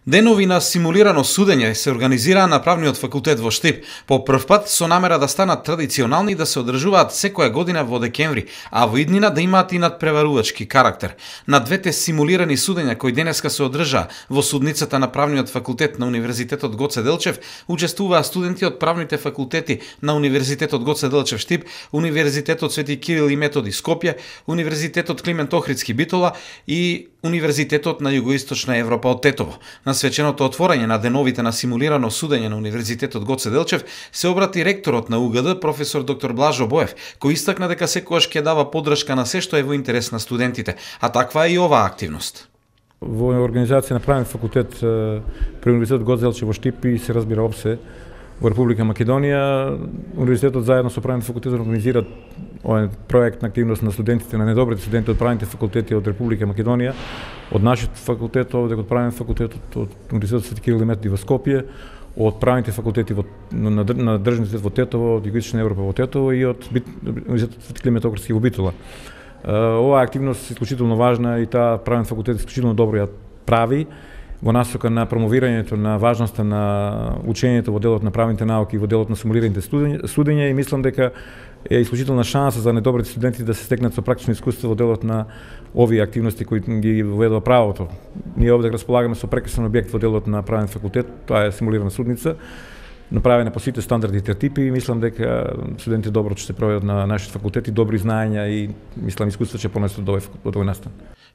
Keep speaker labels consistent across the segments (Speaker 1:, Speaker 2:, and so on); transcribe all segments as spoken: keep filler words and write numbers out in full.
Speaker 1: Денови на симулирано судење се организираа на Правниот факултет во Штип, по прв пат со намера да станат традиционални и да се одржуваат секоја година во декември, а во иднина да имаат и надпреварувачки карактер. На двете симулирани судења кои денеска се одржаа во судницата на Правниот факултет на Универзитетот Гоце Делчев, учествуваа студенти од правните факултети на Универзитетот Гоце Делчев Штип, Универзитетот Свети Кирил и Методи Скопје, Универзитетот Климент Охридски Битола и Универзитетот на Југоисточна Европа од Тетово. На свеченото отворање на деновите на симулирано судење на Универзитетот Гоце Делчев се обрати ректорот на У Г Д, професор доктор Блажо Боев, кој истакна дека секогаш ќе дава поддршка на се што е во интерес на студентите, а таква е и оваа активност.
Speaker 2: Во организација на Правен факултет при Универзитетот Гоце Делчев во Штип и се разбира опсе во Република Македонија, Универзитетот заедно со Правен факултет организира овој проект на активност на студентите, на недобрите студенти од правните факултети од Република Македонија, од нашиот факултет, овде од Правен факултет, од Универзитетот Свети Кирил и Методи во Скопје, од правните факултети во, на, на Државниот универзитет во Тетово, од Југоисточна Европа во Тетово и од Универзитетот Свети Климент Охридски во Битола. Оваа активност е исклучително важна и таа Правен факултет исклучително добро ја прави во насока на промовирањето на важноста на учењето во делот на правните науки и во делот на симулираните судења и мислам дека е исклучителна шанса за недобрите студенти да се стекнат со практично искуство во делот на овие активности кои ги воведува правото. Ние овде располагаме со прекрасен објект во делот на правен факултет, тоа е симулирана судница, направена по сите стандарди и тертипи и мислам дека студенти добро ќе се проведат на нашиот факултет и добри знаења и мислам искуство ќе понесат од овој настан.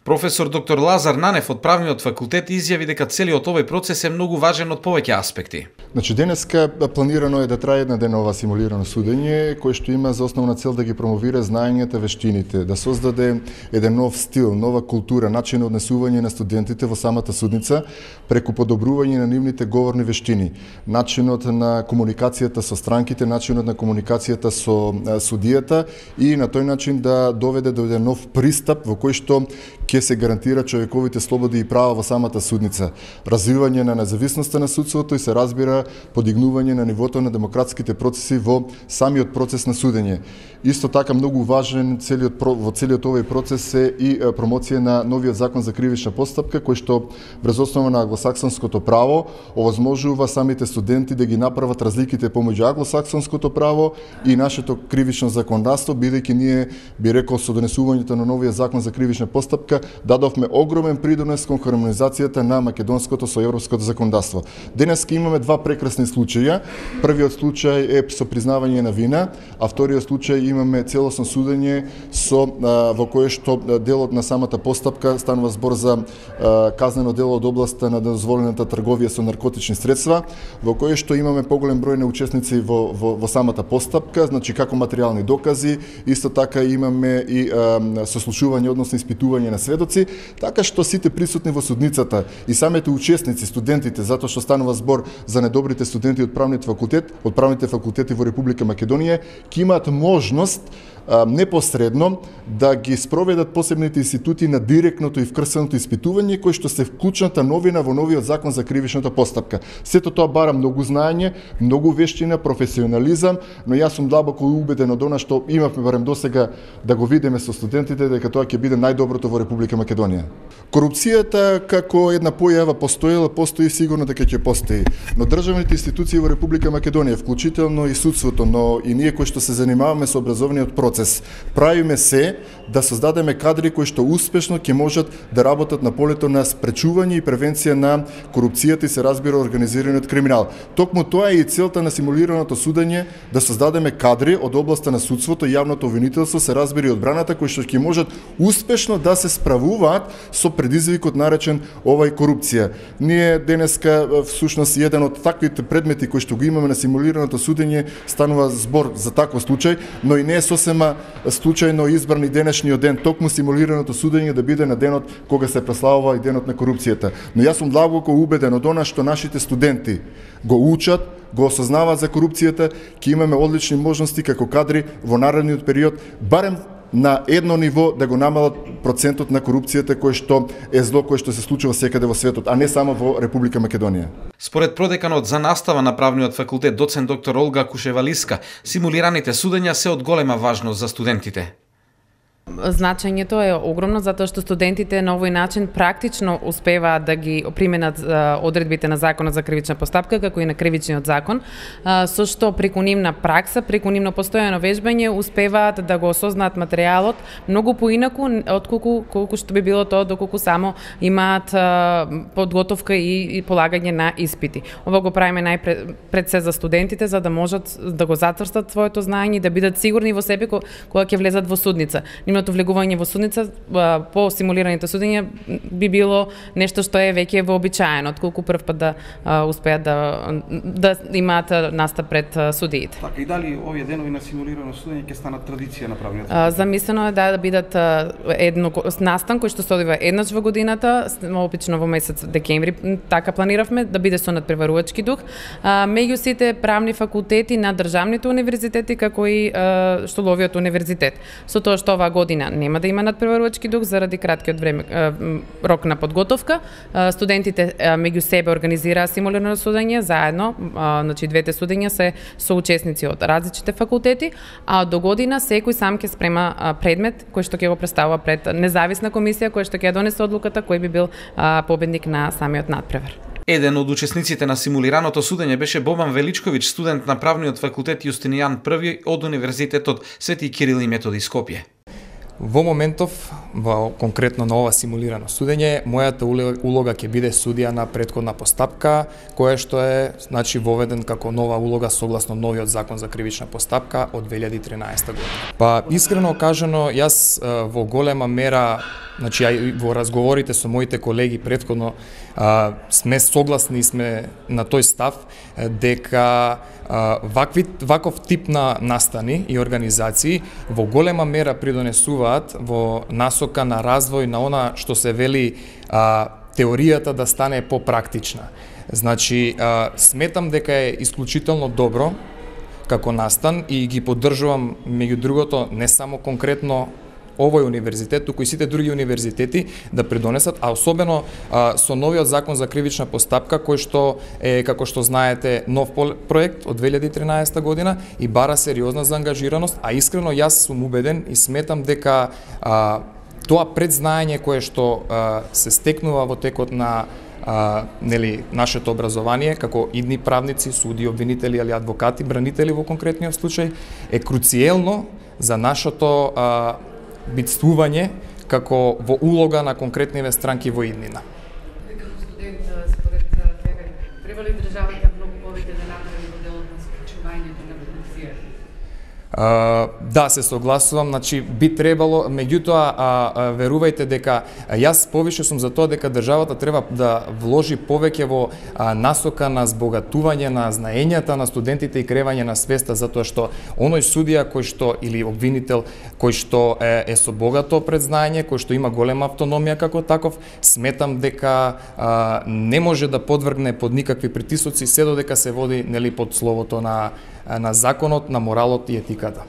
Speaker 1: Професор доктор Лазар Нанев од Правниот факултет изјави дека целиот овој процес е многу важен од повеќе аспекти.
Speaker 3: Значи денеска планирано е да трае една денова симулирано судење кој што има за основна цел да ги промовира знаењата, вештините, да создаде еден нов стил, нова култура, начин на однесување на студентите во самата судница преку подобрување на нивните говорни вештини, начинот на комуникацијата со странките, начинот на комуникацијата со судијата и на тој начин да доведе до еден нов пристап во кој што ќе се гарантира човековите слободи и права во самата судница, развивање на независноста на судството и се разбира подигнување на нивото на демократските процеси во самиот процес на судење. Исто така многу важен целиот во целиот овој процес е и промоција на новиот закон за кривична постапка кој што врз основа на англосаксонското право овозможува самите студенти да ги направат разликите помеѓу англосаксонското право и нашето кривично законодавство, бидејќи ние би рекол со донесувањето на новиот закон за кривична постапка дадовме огромен придонес кон хармонизацијата на македонското со европското законодавство. Денеска имаме два прекрасни случаи. Првиот случај е со признавање на вина, а вториот случај имаме целосно судење со во кое што делот на самата постапка станува збор за а, казнено дело од областа на дозволената трговија со наркотични средства, во кое што имаме поголем број на учесници во, во, во самата постапка, значи како материјални докази, исто така имаме и а, сослушување, односно испитување на сведоци, така што сите присутни во судницата и самите учесници, студентите, затоа што станува збор за недобрите студенти од правниот факултет, од правните факултети во Република Македонија, ќе имаат можност непосредно да ги спроведат посебните институти на директното и вкрсеното испитување кои што се вклучната новина во новиот закон за кривичната постапка. Сето тоа бара многу знаење, многу вештина, професионализам, но јас сум длабоко убеден од она што имавме барем досега да го видиме со студентите дека тоа ќе биде најдоброто во Република Македонија. Корупцијата како една појава постоела, постои сигурно дека ќе постои, но државните институции во Република Македонија, вклучително и судството, но и ние кои што се занимаваме со образовниот процес, правиме се да создадеме кадри кои што успешно ќе можат да работат на полето на спречување и превенција на корупцијата и се разбира организираниот криминал. Токму тоа е и целта на симулираното судење, да создадеме кадри од областа на судството, јавното обвинителство, се разбира и одбраната кои што ќе можат успешно да се справуваат со предизвикот наречен овај корупција. Ние денеска всушност еден од таквите предмети кои што го имаме на симулираното судење станува збор за таков случај, но и не е сосема случајно избран и денешниот ден, токму симулираното судење да биде на денот кога се прославува и денот на корупцијата. Но јас сум длабоко убеден од она што нашите студенти го учат, го осознаваат за корупцијата, ќе имаме одлични можности како кадри во наредниот период, барем на едно ниво да го намалат процентот на корупцијата кој што е зло кој што се случува секаде во светот, а не само во Република Македонија.
Speaker 1: Според продеканот за настава на Правниот факултет доцент доктор Олга Кушевалиска, симулираните судења се од голема важност за студентите.
Speaker 4: Значењето е огромно затоа што студентите на овој начин практично успеваат да ги применат одредбите на Законот за кривична постапка како и на Кривичниот закон, со што преку нивна пракса, преку нивно постојано вежбање успеваат да го осознаат материјалот многу поинаку отколку колку што би било тоа доколку само имаат подготовка и, и полагање на испити. Ова го правиме најпред пред се за студентите за да можат да го затврстат своето знаење и да бидат сигурни во себе кога ќе влезат во судница. Нивното влегување во судница по симулираните судења би било нешто што е веќе вообичаено, отколку прв пат да успеат да да имаат настап пред судиите.
Speaker 5: Така и дали овие денови на симулирано судење ќе станат традиција на правниот?
Speaker 4: Замислено е да, да бидат едно настан кој што се одвива еднаш во годината, обично во месец декември, така планиравме да биде со надпреварувачки дух, меѓу сите правни факултети на државните универзитети како и Штоловиот универзитет. Со тоа што оваа година нема да има надпреварувачки дух заради краткиот време рок на подготовка, студентите меѓу себе организираа симулирано судење заедно, значи двете судења се соучесници од различните факултети, а до година секој сам ќе спрема предмет кој што ќе го представува пред независна комисија која што ќе донесе одлуката кој би бил победник на самиот надпревар.
Speaker 1: Еден од учесниците на симулираното судење беше Бобан Величковиќ, студент на правниот факултет Јустинијан Први од Универзитетот Свети Кирил и Методи Скопје.
Speaker 6: Во моментов, во конкретно на ова симулирано судење, мојата улога ќе биде судија на претходна постапка, која што е значи воведен како нова улога согласно новиот закон за кривична постапка од две илјади и тринаесета година. Па искрено кажано, јас во голема мера, значи во разговорите со моите колеги претходно сме согласни, сме на тој став дека вакви ваков тип на настани и организации во голема мера придонесуваат во насока на развој на она што се вели а, теоријата да стане попрактична. Значи, а, сметам дека е исклучително добро како настан и ги поддржувам меѓу другото не само конкретно овој универзитет, туку и сите други универзитети да придонесат, а особено а, со новиот закон за кривична постапка кој што е, како што знаете, нов проект од две илјади и тринаесета година и бара сериозна заангажираност, а искрено јас сум убеден и сметам дека а, тоа предзнаење кое што а, се стекнува во текот на а, нели нашето образование како идни правници, суди, обвинители или адвокати, бранители во конкретниот случај е круцијелно за нашето а, битствување како во улога на конкретниве странки во иднина.
Speaker 4: Како студент, според тебе, треба ли државата многу повеќе да направи во делот на спречувањето на корупцијата?
Speaker 6: Uh, да, се согласувам, значи би требало, меѓутоа а, а, верувајте дека јас повише сум за тоа дека државата треба да вложи повеќе во а, насока на збогатување на знаењата на студентите и креање на свеста, затоа што оној судија кој што или обвинител кој што е, е со богато предзнаење, кој што има голема автономија како таков, сметам дека а, не може да подвргне под никакви притисоци се додека се води нели под словото на на законот, на моралот и етиката.